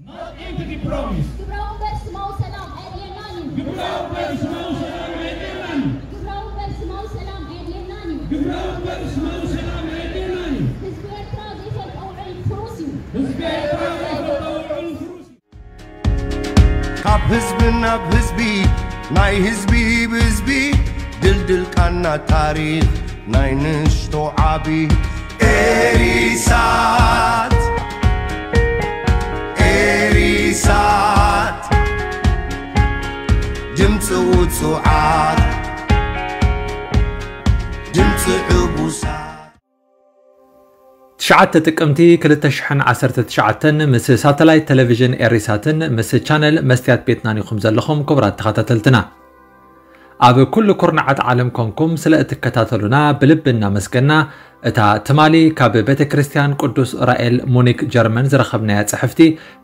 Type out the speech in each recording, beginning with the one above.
Not empty promise. ግብራዊ በርስማዊ ሰላም ኣየድልየናን እዩ። ግብራዊ በርስማዊ ሰላም ኣየድልየናን እዩ። ግብራዊ በርስማዊ ሰላም ኣየድልየናን እዩ። ግብራዊ በርስማዊ ሰላም ኣየድልየናን እዩ። ህዝቢ ኤርትራ ዘይፈልጦ ውዕል ፍሩስ እዩ። ህዝቢ ኤርትራ ዘይፈልጦ ውዕል ፍሩስ እዩ። ካብ ህዝቢ ናብ ህዝቢ፣ ናይ ህዝቢ ብህዝቢ፣ ድልድል ቃና ታሪኽ ናይ ንእሽቶ ዓቢ። ኤሪሳት፣ ኤሪሳት፣ ድምፂ ውፁዓት፣ ድምፂ ዕቡሳት። ትሽዓተ ጥቅምቲ ክልተ ሽሕን ዓሰርተ ትሽዓተን ምስ ሳተላይት ቴሌቪዥን ኤሪሳትን ምስ ቻነል መስትያት ቤትናን ኢኹም ዘለኹም ክቡራት ተኸታተልትና። ኣብ ኩሉ ኩርናዓት ዓለም ኮንኩም ስለ እትከታተሉና ብልቢ እናመስገና፣ እታ ትማሊ ካብ ቤተ ክርስቲያን ቅዱስ ራኤል ሙኒክ ጀርመን ዝረኸብናያ ጽሕፍቲ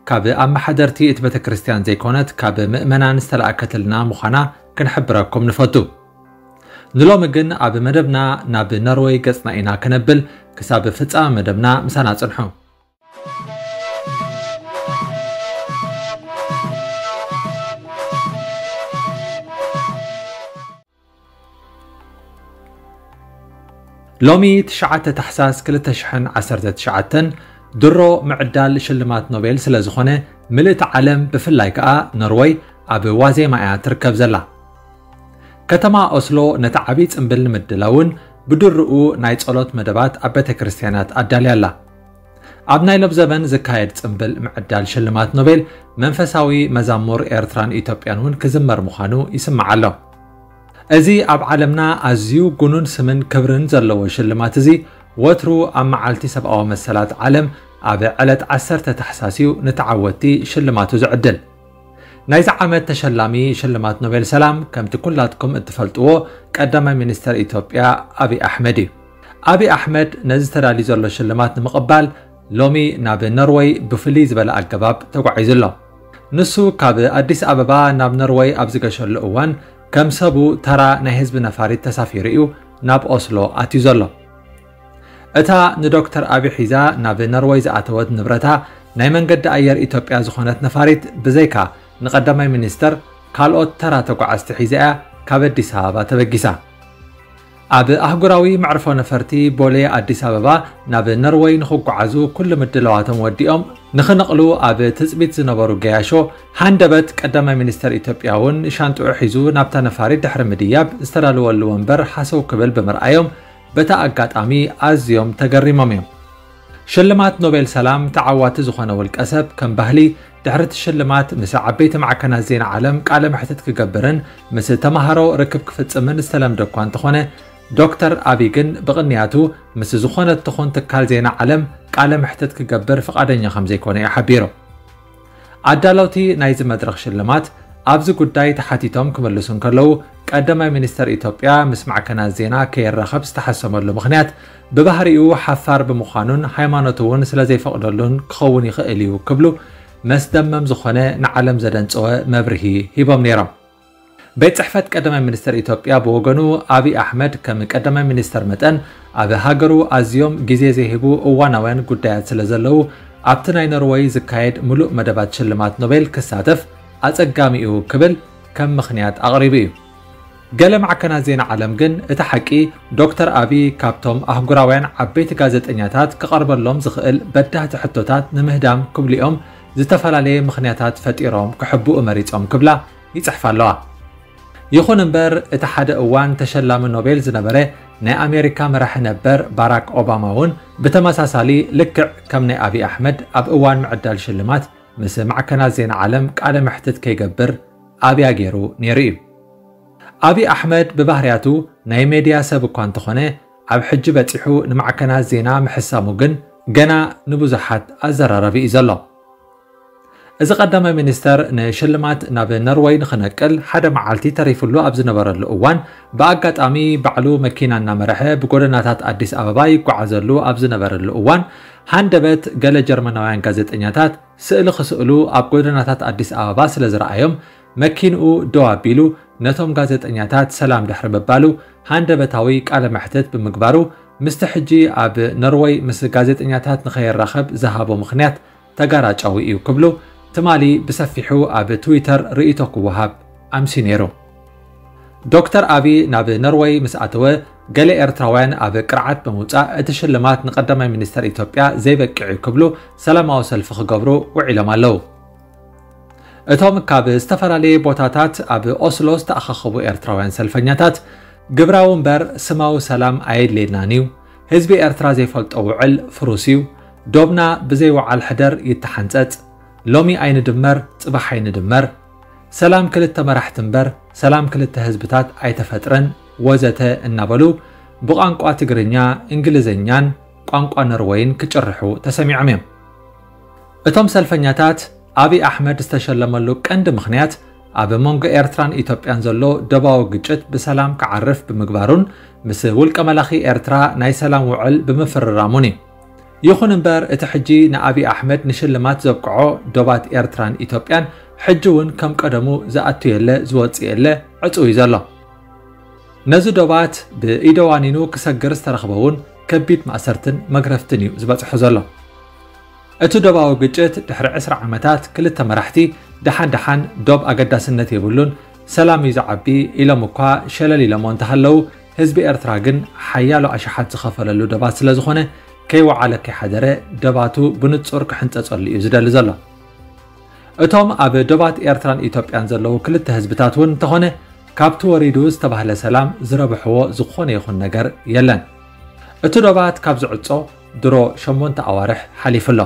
ካብ ኣመሓደርቲ እቲ ቤተ ክርስቲያን ዘይኮነት ካብ ምእመናን ዝተላእከትልና ምዃና ክንሕብረኩም ንፈቱ። ንሎሚ ግን ኣብ መደብና ናብ ኖርወይ ገጽና ኢና ከነብል። ክሳብ ፍጻመ መደብና ምሳና ጽንሑ። ሎሚ ትሽዓተ ታሕሳስ ክልተ ሽሕን ዓሰርተ ትሽዓተን ድሮ ምዕዳል ሽልማት ኖቤል ስለ ዝኾነ፣ ምልእቲ ዓለም ብፍላይ ከኣ ኖርወይ ኣብ ዋዜማ እያ ትርከብ ዘላ። ከተማ ኦስሎ ነቲ ዓቢ ጽምብል ንምድላውን ብድርኡ ናይ ጸሎት መደባት ኣብ ቤተ ክርስቲያናት ኣዳልያ ኣላ። ኣብ ናይ ሎብ ዘበን ዝካየድ ጽምብል ምዕዳል ሽልማት ኖቤል መንፈሳዊ መዛሙር ኤርትራን ኢትዮጵያን እውን ክዝመር ምዃኑ ይስማዕ ኣሎ። እዚ ኣብ ዓለምና ኣዝዩ ጉኑን ስምን ክብርን ዘለዎ ሽልማት እዚ ወትሩ ኣብ መዓልቲ ሰብኣዊ መሰላት ዓለም ኣብ ዕለት ዓሰርተ ታሕሳስ እዩ ንተዓወትቲ ሽልማቱ ዝዕድል። ናይዚ ዓመት ተሸላሚ ሽልማት ኖቤል ሰላም ከምቲ ኩላትኩም እትፈልጥዎ ቀዳማይ ሚኒስተር ኢትዮጵያ ኣብይ ኣሕመድ እዩ። ኣብይ ኣሕመድ ነዚ ተዳልዩ ዘሎ ሽልማት ንምቕባል ሎሚ ናብ ኖርወይ ብፍልይ ዝበለ ኣገባብ ተጓዒዙ ኣሎ። ንሱ ካብ ኣዲስ ኣበባ ናብ ኖርወይ ኣብ ዝገሸሉ እዋን ከም ሰቡ ተራ ናይ ህዝቢ ነፋሪት ተሳፊሩ እዩ ናብ ኦስሎ ኣትዩ ዘሎ። እታ ንዶክተር ኣቢ ሒዛ ናብ ኖርወይ ዝኣተወት ንብረታ ናይ መንገዲ ኣየር ኢትዮጵያ ዝኾነት ነፋሪት ብዘይካ ንቀዳማይ ሚኒስተር ካልኦት ተራ ተጓዓዝቲ ሒዛ እያ ካብ ኣዲስ ኣበባ ተበጊሳ። ኣብ ኣህጉራዊ መዕርፎ ነፈርቲ ቦሌ ኣዲስ ኣበባ ናብ ኖርወይ ንኽጓዓዙ ኩሉ ምድላዋቶም ወዲኦም ንኽነቕሉ ኣብ ትጽቢት ዝነበሩ ገያሾ ሃንደበት ቀዳማይ ሚኒስተር ኢትዮጵያ እውን ሻንጥኡ ሒዙ ናብታ ነፋሪት ድሕሪ ምድያብ ዝተዳለወሉ ወንበር ሃሰው ክብል ብምርኣዮም በታ ኣጋጣሚ ኣዝዮም ተገሪሞም እዮም። ሽልማት ኖቤል ሰላም ተዓዋቲ ዝኾነ ውልቀ ሰብ ከም ባህሊ ድሕሪ እቲ ሽልማት ምስ ዓበይቲ ማዕከናት ዜና ዓለም ቃለ መሕትት ክገብርን ምስ ተማሃሮ ርክብ ክፍጽምን ዝተለምደ እኳ እንተኾነ፣ ዶክተር ኣቢ ግን ብቕንያቱ ምስ ዝኾነት ትኹን ትካል ዜና ዓለም ቃለ መሕትት ክገብር ፍቓደኛ ከም ዘይኮነ እዩ ሓቢሩ። ኣዳለውቲ ናይዚ መድረኽ ሽልማት ኣብዚ ጉዳይ ተሓቲቶም ክምልሱ እንከለዉ፣ ቀዳማይ ሚኒስተር ኢትዮጵያ ምስ ማዕከናት ዜና ከይራኸብ ዝተሓሰመሉ ምኽንያት ብባህሪኡ ሓፋር ብምዃኑን ሃይማኖቱ እውን ስለ ዘይፈቕደሉን ክኸውን ይኽእል እዩ ክብሉ መስደመም ዝኾነ ንዓለም ዘደንጸወ መብርሂ ሂቦም ነይሮም። ቤት ጽሕፈት ቀዳማይ ሚኒስተር ኢትዮጵያ ብወገኑ፣ ኣብይ ኣሕመድ ከም ቀዳማይ ሚኒስተር መጠን ኣብ ሃገሩ ኣዝዮም ግዜ ዘይህቡ እዋናውያን ጉዳያት ስለ ዘለዉ፣ ኣብቲ ናይ ኖርወይ ዝካየድ ምሉእ መደባት ሽልማት ኖቤል ክሳተፍ ኣጸጋሚ እዩ ክብል ከም ምኽንያት ኣቕሪቡ እዩ። ገለ ማዕከናት ዜና ዓለም ግን እቲ ሓቂ ዶክተር ኣቢ ካብቶም ኣህጉራውያን ዓበይቲ ጋዜጠኛታት ክቐርበሎም ዝኽእል በዳህቲ ሕቶታት ንምህዳም ክብሉ እዮም ዝተፈላለየ ምኽንያታት ፈጢሮም ክሕብኡ መሪጾም ክብላ ይጽሕፋ ኣለዋ። ይኹን እምበር እቲ ሓደ እዋን ተሸላሚ ኖቤል ዝነበረ ናይ ኣሜሪካ መራሒ ነበር ባራክ ኦባማ እውን ብተመሳሳሊ ልክዕ ከም ናይ ኣቢ ኣሕመድ ኣብ እዋን ምዕዳል ሽልማት ምስ ማዕከናት ዜና ዓለም ቃለ መሕትት ከይገብር ኣብያ ገይሩ ነይሩ እዩ። ኣብይ ኣሕመድ ብባህርያቱ ናይ ሜድያ ሰብ እኳ እንተኾነ፣ ኣብ ሕጂ በጺሑ ንማዕከናት ዜና ምሕሳሙ ግን ገና ንብዙሓት ኣዘራራቢ እዩ ዘሎ። እዚ ቀዳማይ ሚኒስተር ንሽልማት ናብ ኖርወይ ንኽነቅል ሓደ መዓልቲ ተሪፉሉ ኣብ ዝነበረሉ እዋን፣ ብኣጋጣሚ ባዕሉ መኪና እናመርሐ ብጎደናታት ኣዲስ ኣበባ ይጓዓዘሉ ኣብ ዝነበረሉ እዋን፣ ሃንደበት ገለ ጀርመናውያን ጋዜጠኛታት ስእሊ ክስእሉ ኣብ ጎደናታት ኣዲስ ኣበባ ስለ ዝረኣዮም፣ መኪንኡ ደው ኣቢሉ ነቶም ጋዜጠኛታት ሰላም ድሕሪ ምባሉ፣ ሃንደበታዊ ቃለ መሕትት ብምግባሩ፣ ምስቲ ሕጂ ኣብ ኖርወይ ምስ ጋዜጠኛታት ንኸይራኸብ ዝሃቦ ምኽንያት ተጋራጫዊ እዩ ክብሉ ትማሊ ብሰፊሑ ኣብ ትዊተር ርእይቶ ክወሃብ ኣምስዩ ነይሩ። ዶክተር ኣቢ ናብ ኖርወይ ምስ ኣተወ፣ ገለ ኤርትራውያን ኣብ ቅርዓት ብምውጻእ እቲ ሽልማት ንቀዳማይ ሚኒስተር ኢትዮጵያ ዘይበቅዕ እዩ ክብሉ ሰላማዊ ሰልፊ ክገብሩ ውዒሎም ኣለዉ። እቶም ካብ ዝተፈላለየ ቦታታት ኣብ ኦስሎ ዝተኣኻኸቡ ኤርትራውያን ሰልፈኛታት፣ ግብራዊ እምበር ስማዊ ሰላም ኣየድልየናን እዩ፣ ህዝቢ ኤርትራ ዘይፈልጦ ውዕል ፍሩስ እዩ፣ ዶብና ብዘይ ወዓል ሕደር ይተሓንጸጽ፣ ሎሚ ኣይንድመር ጽባሕ ኣይንድመር፣ ሰላም ክልተ መራሕቲ እምበር ሰላም ክልተ ህዝብታት ኣይተፈጥረን፣ ወዘተ እናበሉ ብቋንቋ ትግርኛ፣ እንግሊዝኛን ቋንቋ ኖርወይን ክጭርሑ ተሰሚዖም እዮም። እቶም ሰልፈኛታት፣ ኣብይ ኣሕመድ ዝተሸለመሉ ቀንዲ ምኽንያት ኣብ መንጎ ኤርትራን ኢትዮጵያን ዘሎ ዶባዊ ግጭት ብሰላም ክዓርፍ ብምግባሩን ምስ ውልቀ መላኺ ኤርትራ ናይ ሰላም ውዕል ብምፍርራሙን እዩ። ይኹን እምበር፣ እቲ ሕጂ ንኣብይ ኣሕመድ ንሽልማት ዘብቅዖ ዶባት ኤርትራን ኢትዮጵያን ሕጂ እውን ከም ቀደሙ ዝኣቱ የለ ዝወጽእ የለ ዕጹው እዩ ዘሎ። ነዚ ዶባት ብኢደ ዋኒኑ ክሰግር ዝተረኽበ እውን ከቢድ ማእሰርትን መግረፍትን እዩ ዝበጽሖ ዘሎ። እቲ ዶባዊ ግጭት ድሕሪ ዕስራ ዓመታት ክልተ መራሕቲ ደሓን ደሓን ዶብ ኣገዳስነት የብሉን፣ ሰላም እዩ ዝዓቢ ኢሎም እኳ ሸለል ኢሎሞ እንተሃለዉ፣ ህዝቢ ኤርትራ ግን ሓያሎ ኣሽሓት ዝኸፈለሉ ዶባት ስለ ዝኾነ፣ ከይወዓለ ከይሓደረ ዶባቱ ብንጹር ክሕንጸጸሉ እዩ ዝደሊ ዘሎ። እቶም ኣብ ዶባት ኤርትራን ኢትዮጵያን ዘለዉ ክልተ ህዝብታት እውን እንተኾነ፣ ካብቲ ወሪዱ ዝተባህለ ሰላም ዝረብሕዎ ዝኾነ ይኹን ነገር የለን። እቲ ዶባት ካብ ዝዕጾ ድሮ ሸሞንተ ኣዋርሕ ሓሊፉ ኣሎ።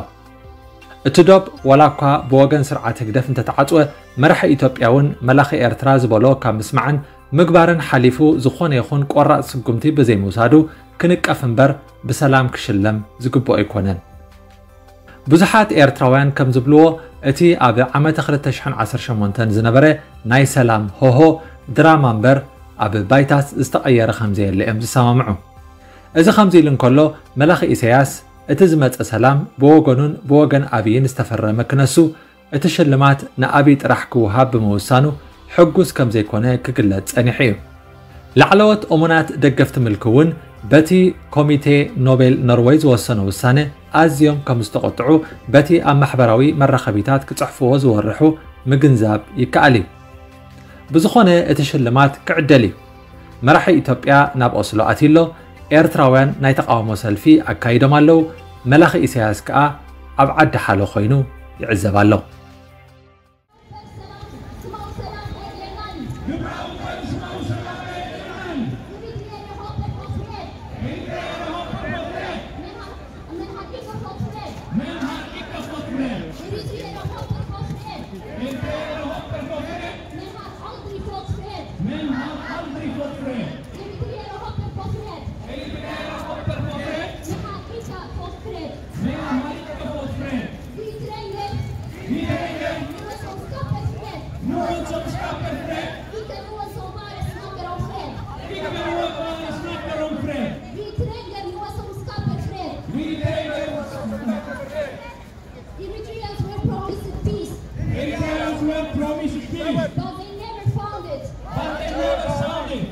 እቲ ዶብ ዋላ እኳ ብወገን ስርዓት ህግደፍ እንተተዓጽወ፣ መራሒ ኢትዮጵያ እውን መላኺ ኤርትራ ዝበሎ ካብ ምስማዕን ምግባርን ሓሊፉ ዝኾነ ይኹን ቆራጽ ስጉምቲ ብዘይምውሳዱ ክንቀፍ እምበር ብሰላም ክሽለም ዝግብኦ ኣይኮነን። ብዙሓት ኤርትራውያን ከም ዝብልዎ፣ እቲ ኣብ ዓመተ ክልተ ሽሕን ዓሰርተ ሸሞንተን ዝነበረ ናይ ሰላም ሆሆ ድራማ እምበር ኣብ ባይታስ ዝተቐየረ ከም ዘየለ እዮም ዝሰማምዑ። እዚ ከምዚ ኢሉ እንከሎ፣ መላኺ ኢሳያስ እቲ ዝመጸ ሰላም ብወገኑን ብወገን ኣብይን ዝተፈረመ ክነሱ፣ እቲ ሽልማት ንኣብይ ጥራሕ ክወሃብ ብምውሳኑ ሕጉስ ከም ዘይኮነ ክግለጽ ጸኒሑ እዩ። ላዕለዎት እሙናት ደገፍቲ ምልኪ እውን በቲ ኮሚቴ ኖቤል ኖርወይ ዝወሰኖ ውሳነ ኣዝዮም ከም ዝተቖጥዑ በቲ ኣብ ማሕበራዊ መራኸቢታት ክጽሕፍዎ ዝወርሑ ምግንዛብ ይከኣል እዩ። ብዝኾነ እቲ ሽልማት ክዕደል እዩ። መራሒ ኢትዮጵያ ናብ ኦስሎ ኣትዩ ኣሎ። ኤርትራውያን ናይ ተቓውሞ ሰልፊ ኣካይዶም ኣለዉ። መላኺ ኢሳያስ ከኣ ኣብ ዓዲ ሓሎ ኮይኑ ይዕዘብ ኣሎ። Eritreans were promised peace. Eritreans were promised peace. But they never found it. But they never found it.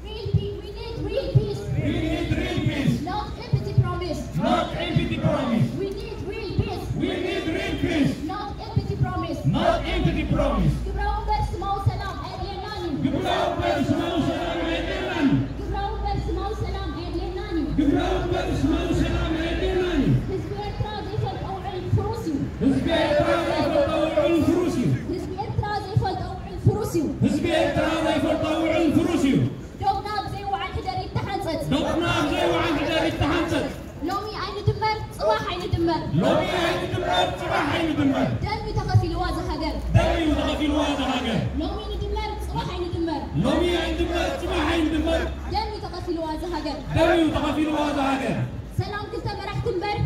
Real peace. We need real peace. We need real peace. Not empty promise. Not empty promise. We need real peace. We need real peace. Not empty promise. Not empty promise. ግብራዊ እምበር ስማዊ ሰላም ኣየድልየናን እዩ። ግብራዊ እምበር ስማዊ ሰላም ኣየድልየናን እዩ። ግብራዊ እምበር ስማዊ ሰላም ኣየድልየናን እዩ። ግብራዊ እምበር ስማዊ ሰላም ኣየድልየናን እዩ። ህዝቢ ኤርትራ ዘይፈልጦ ውዕል ፍሩስ እዩ። ህዝቢ ኤርትራ ዘይፈልጦ ውዕል ፍሩስ እዩ። ህዝቢ ኤርትራ ዘይፈልጦ ውዕል ፍሩስ እዩ። ህዝቢ ኤርትራ ዘይፈልጦ ውዕል ፍሩስ እዩ። ዶብና ብዘይ ወዓል ሕደር ይተሓንጸጽ። ዶብና ብዘይ ወዓል ሕደር ይተሓንጸጽ። ሎሚ ኣይንድመር፣ ጽባሕ ኣይንድመር። ሎሚ ኣይንድመር፣ ጽባሕ ኣይንድመር። ደም እዩ ተኸፊልዋ እዛ ሃገር። ደም እዩ ተኸፊልዋ እዛ ሃገር። ሎሚ ንድመር፣ ጽባሕ ኣይንድመር። ሎሚ ኣይንድመር፣ ጽባሕ ኣይንድመር። ደም እዩ ተኸፊልዋ እዛ ሃገር። ደም እዩ ተኸፊልዋ እዛ ሃገር። ሰላም ክልተ መራሕቲ እምበር።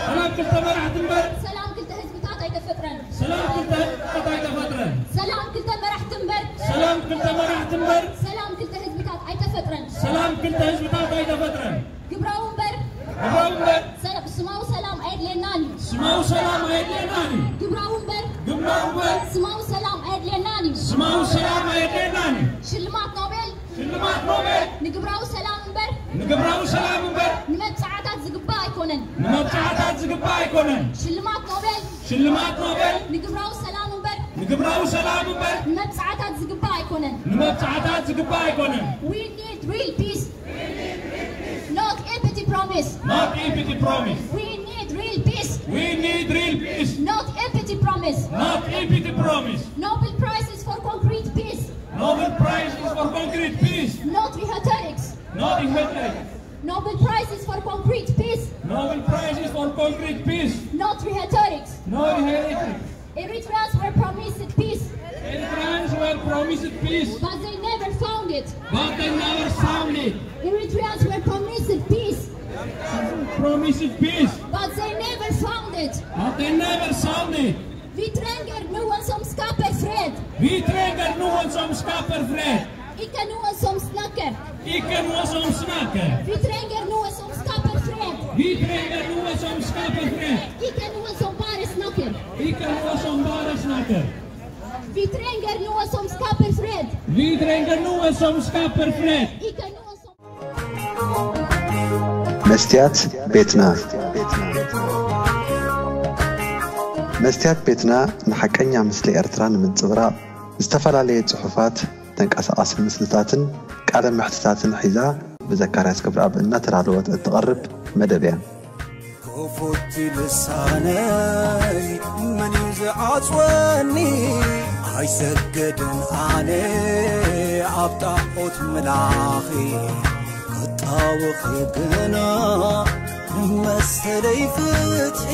ሰላም ክልተ መራሕቲ እምበር። ሰላም ክልተ ህዝብታት ኣይተፈጥረን። ሰላም ክልተ ህዝብታት ኣይተፈጥረን። ሰላም ክልተ መራሕቲ እምበር። ሰላም ክልተ መራሕቲ እምበር። ሰላም ክልተ ህዝብታት ኣይተፈጥረን። ሰላም ክልተ ህዝብታት ኣይተፈጥረን። ግብራዊ እምበር። ግብራዊ እምበር። ሰላ-፣ ስማዊ ሰላም ኣየድልየናን እዩ። ስማዊ ሰላም ኣየድልየናን እዩ። ግብራዊ እምበር። ግብራዊ እምበር። ስማዊ ሰላም ኣየድልየናን እዩ። ስማዊ ሰላም ኣየድልየናን እዩ። ሽልማት ኖቤል ሽልማት ኖቤል ንግብራዊ ሰላም እምበር ንግብራዊ ሰላም እምበር ንመብጽዓታት ዝግባእ ኣይኮነን። ንመብጽዓታት ዝግባእ ኣይኮነን። ሽልማት ኖቤል ሽልማት ኖቤል ንግብራዊ ሰላም ግብራዊ ሰላም እምበር ንመብጻዕታት ዝግባእ ኣይኮነን። ንመብጻዕታት ዝግባእ ኣይኮነን። We need real peace, not empty promise. Not empty promise. We need real peace, We need real peace, not empty promise. Not empty promise. Nobel Prize is for concrete peace, Nobel Prize is for concrete peace, not rhetorics. Not rhetoric. Nobel Prize is for concrete peace, Nobel Prize is for concrete peace, not rhetorics. Not rhetoric. Eritreans were promised peace, Eritreans were promised peace, but they never found it. But they never found it. Eritreans were promised peace, Promised peace, but they never found it. But they never found it. Vi trenger noen som skaper fred. Vi trenger noen som skaper fred. Ikke noen som snakker. Ikke noen som snakker. Vi trenger noen som skaper fred. Vi trenger noen som skaper fred. Ikke noen som bare snakker. Ikke noen som bare snakker. Vi trenger noen som skaper fred. Vi trenger noen som skaper fred. Ikke noen som መስትያት ቤትና። መስትያት ቤትና ንሓቀኛ ምስሊ ኤርትራ ንምንጽብራቕ ዝተፈላለየ ጽሑፋት፣ ተንቀሳቓሲ ምስልታትን ቃለ መሕትታትን ሒዛ ብዘካርያስ ክብረኣብ እናተዳለወት እትቐርብ መደብ እያ። ክፉት ልሳነይ መን እዩ ዝዓጽወኒ? ኣይሰግድን ኣነ ኣብ ጣዖት ምላኺ ክጣወኺ ግና መሰለይ ፍትሒ